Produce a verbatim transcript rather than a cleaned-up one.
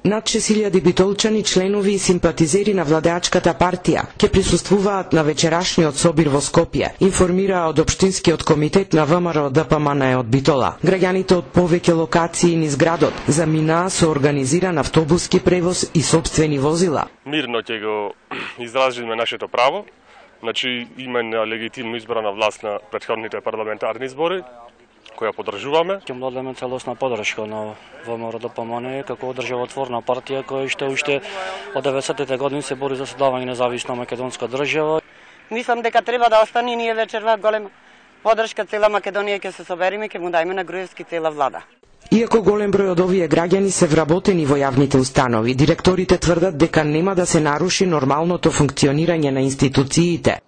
Над шест илјади битолчани, членови и симпатизери на владеачката партија ќе присуствуваат на вечерашниот собир во Скопје, информираа од Општинскиот комитет на ВМРО Д П М Н од Битола. Граѓаните од повеќе локации низ градот заминаа со организиран автобуски превоз и сопствени возила. Мирно ќе го изразиме нашето право, значи имаме легитимно избрана власт на претходните парламентарни избори, која поддржуваме. Ќе му дадеме целосна поддршка на ВМРО Д П М Н како државотворна партија која што уште од деветдесетите години се бори за создавање независна македонска држава. Мислам дека треба да остане, ние вечерва голема поддршка, цела Македонија ќе се собериме, ќе му дајме на Груевски цела влада. Иако голем број од овие граѓани се вработени во јавните установи, директорите тврдат дека нема да се наруши нормалното функционирање на институциите.